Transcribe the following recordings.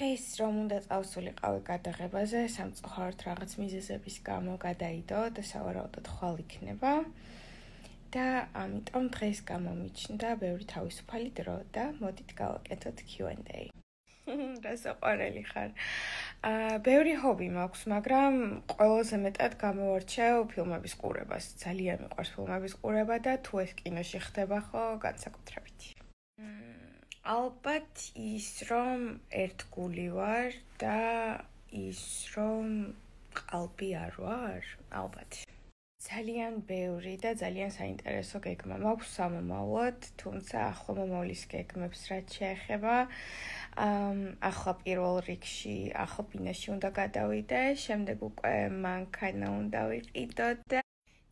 დღეს რომ უნდა წავსულიყავი გადაღებაზე, სამწუხაროდ რაღაც მიზეზების გამო გადაიდო და სავარაუდოდ ხვალ იქნება. და ამიტომ დღეს გამომიჩნდა ბევრი თავისუფალი დრო და მოდით გავაკეთოთ Q&A. რა საყვარელი ხარ. ბევრი ჰობი მაქვს, მაგრამ ყველაზე მეტად გამოვარჩევ ფილმების ყურებას. ძალიან მიყვარს ფილმების ყურება და თუ ეს კინოში ხდება ხო, განსაკუთრებით. ალბათ ის რომ ერთგული ვარ და ის რომ ყალბი არ ვარ, ალბათ. ძალიან ბევრი და ძალიან საინტერესო გეგმა მაქვს სამომავლოდ, თუმცა ახლა მომავლის გეგმებს რაც შეეხება, ახლა პირველ რიგში ახლა ბინაში უნდა გადავიდე, შემდეგ უკვე მანქანა უნდა ვიყიდო და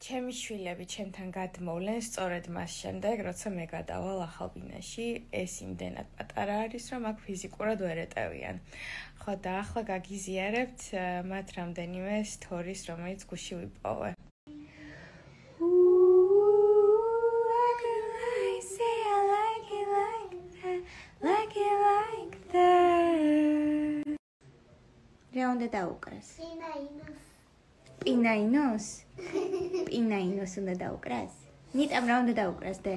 ჩემი შვილები ჩემთან გადმოვლენ სწორედ მას შემდეგ, როცა მე გადავალ ახალ ბინაში, ეს იმდენად პატარა არის, რომ აქ ფიზიკურად ვერ ეტევიან. ხო და ახლა გაგიზიარებთ მათ რამდენიმე სტორის, რომელიც გუში ვიპოვე. რა უნდა დაუკრას? პინაინოს? პინაინოს უნდა დაუკრას? ნიტამ რა უნდა დაუკრას დე?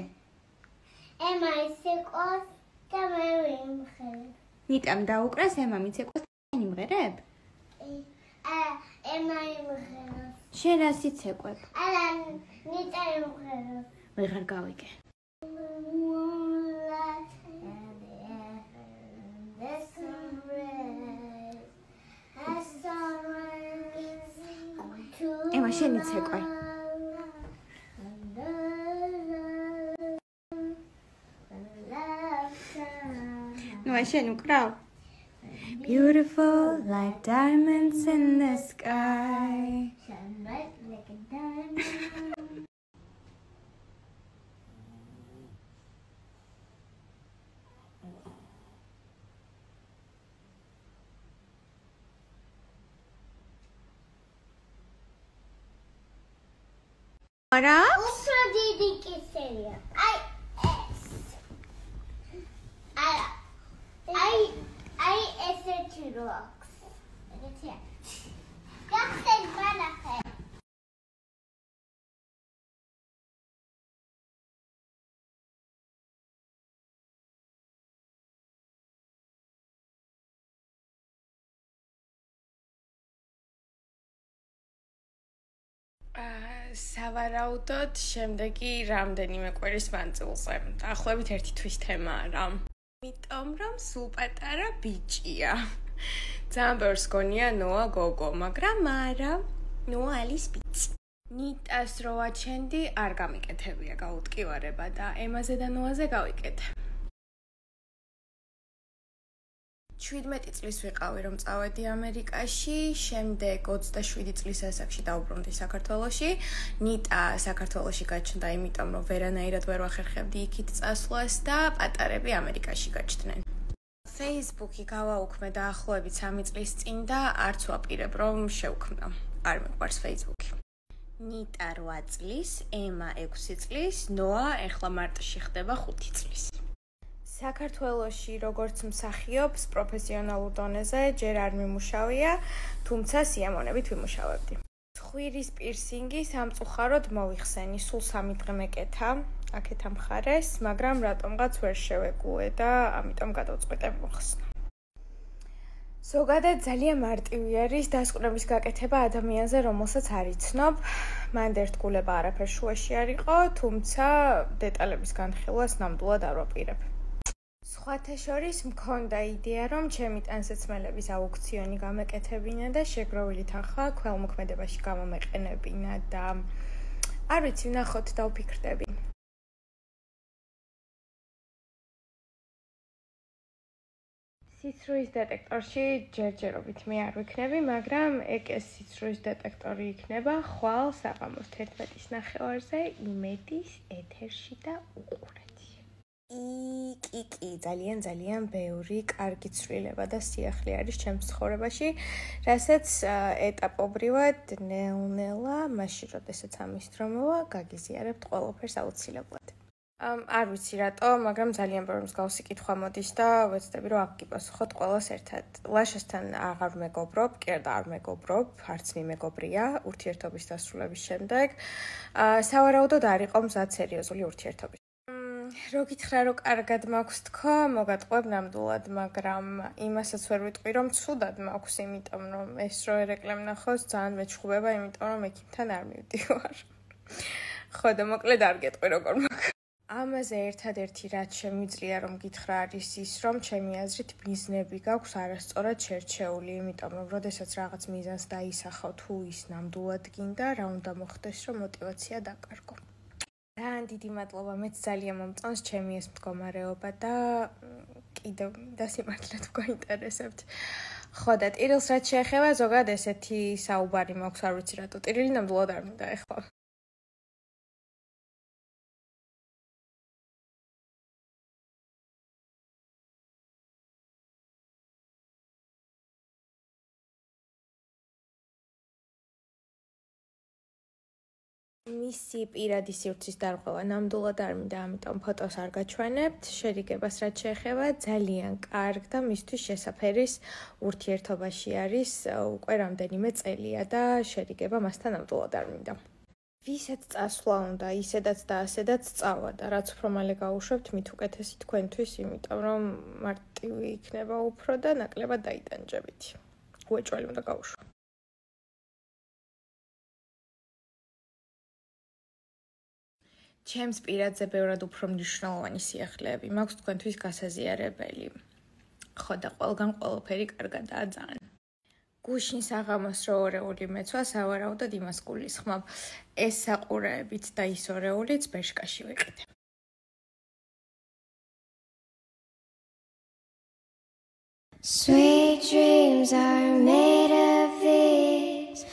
ემა ისეკოს და მე ვიმღერებ. ნიტამ დაუკრას, ემა მიცეკოს და იმღერებ? ემა იმღერებს. შენ რა სიცეკვებ? არა, ნიტა იმღერებს. ვეღარ გავიგე. ემა შენ იცეკვე. ნუ შენ უკრავ. Beautiful like diamonds in the sky. Shine bright like a diamond. არა? უფრო დიდი კისერია. აი ეს. აი ესეთი როაქს. ეგეთია. გახსენ ბანახე. სავარაუდოდ შემდეგი რამდენიმე კვირის მანძილზე. დაახლოებით 1 თვის თემაა რა. იმიტომ რომ სულ პატარა ბიჭია. ძალიან ბევრს გონია ნოა გოგო, მაგრამ არა, ნოა არის ბიჭი. ნიტას რო აჩენდი არ გამიკეთებია გაუტკივარება და ემაზე და ნოაზე გავიკეთე. 17 წლის ვიყავი რომ წავედი ამერიკაში, შემდეგ 27 წლის ასაკში დავუბრუნდი საქართველოში. ნიტა საქართველოში გაჩნდა, იმიტომ რომ ვერანაირად ვერ ვახერხებდი იქით წასვლას და პატარები ამერიკაში გაჩნდნენ. Facebook-ი გავაუქმე დაახლოებით 3 წლის წინ და არც ვაპირებ რომ შევქმნა. არ მიყვარს Facebook-ი. ნიტა 8 წლის, ემა 6 წლის, ნოა ეხლა მარტში ხდება 5 წლის. საქართველოში როგორც მსახიობს პროფესიონალურ დონეზე ჯერ არ მიმუშავია, თუმცა სიამოვნებით ვიმუშავებდი. ცხვირის პირსინგი სამწუხაროდ მოიხსენი, სულ 3 დღე მეკეთა, აქეთ ამხარეს, მაგრამ რატომღაც ვერ შევეგუე და ამიტომ გადავწყვიტე მოხსნა. ზოგადად ძალიან მარტივი არის დასკვნების გაკეთება ადამიანზე, რომელსაც არ იცნობ. მანდ ერთგულება არაფერ შუაში არ იყო, თუმცა დეტალების განხილვას ნამდვილად არ ვაპირებ. სხვათა შორის მქონდა იდეა, რომ ჩემი ტანსაცმელების აუქციონი გამეკეთებინა და შეგროვილი თანხა ქველმოქმედებაში გამომეყენებინა და არ ვიცი, ვნახოთ და ვფიქრდები. სიცრუის დეტექტორში ჯერჯერობით მე არ ვიქნები, მაგრამ ეგ ეს სიცრუის დეტექტორი იქნება ხვალ საღამოს 11:30-ზე იმედის ეთერში და უყურეთ. კი, ძალიან ბევრი კარგი ცვლილება და სიახლე არის ჩემს ცხოვრებაში, რასაც ეტაპობრივად ნელ-ნელა, მაშინ როდესაც ამის დრო მოვა, გაგიზიარებთ ყველაფერს აუცილებლად. არ ვიცი რატო, მაგრამ ძალიან ბევრი მსგავსი კითხვა მოდის და ვეცდები რომ აქ გიპასუხოთ ყველას ერთად. ლაშასთან აღარ მეგობრობ, კი არა არ მეგობრობ, არც მიმეგობრია ურთიერთობის დასრულების შემდეგ. სავარაუდოდ არ იყო მზად სერიოზული ურთიერთობის. რო გითხრა რომ კარგად მაქვს თქო, მოგატყვევ ნამდვილად, მაგრამ იმასაც ვერ ვიტყვი რომ ცუდად მაქვს, იმიტომ რომ ეს რო ერეკლე ვნახოს ძალიან მეჩხუბება, იმიტომ რომ ექიმთან არ მივდივარ. ხო და მოკლედ არ გეტყვი როგორ მაქვს. ამაზე ერთადერთი რაც შემიძლია რომ გითხრა არის ის რომ ჩემი აზრით მიზნები გაქვს არასწორად შერჩეული, იმიტომ რომ როდესაც რაღაც მიზანს დაისახავ თუ ის ნამდვილად გინდა, რა უნდა მოხდეს რომ მოტივაცია დაკარგო. ძალიან დიდი მადლობა, მეც ძალიან მომწონს ჩემი ეს მდგომარეობა და კიდევ მინდა სიმართლედ გვაინტერესებთ. ხო და ტირილს რაც შეეხება, ზოგადად ესეთი საუბარი მაქვს, არ ვიცი რატო ტირილი ნამდვილად არ მინდა ეხლა. მისი პირადი სივრცის დარღვევა ნამდვილად არ მინდა, ამიტომ ფოტოს არ გაჩვენებთ. შერიგებას რაც შეეხება, ძალიან კარგ და მისთვის შესაფერის ურთიერთობაში არის უკვე რამდენიმე წელია და შერიგება მასთან ნამდვილად არ მინდა. ვისაც წასვლა უნდა, ისედაც და ასედაც წავა და რაც უფრო მალე გაუშვებთ, მით უკეთესი თქვენთვის, იმიტომ რომ მარტივი იქნება უფრო და ნაკლებად დაიტანჯებით. უეჭველი უნდა გაუშვა. ჩემს პირადზე ბევრად უფრო მნიშვნელოვანი სიახლეები მაქვს თქვენთვის გასაზიარებელი. ხო და ყველგან ყველაფერი კარგადაა ძალიან. გუშინ საღამოს რო ორეული მეცვა, სავარაუდოდ იმას გულისხმობ. ეს საყურეებით და ის ორეულიც ბეშკაში ვიყიდე. Sweet dreams are made of these.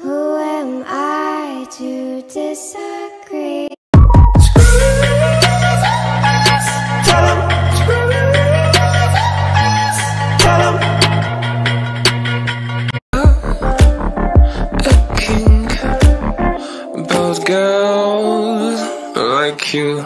Who am I to disagree? Girls like you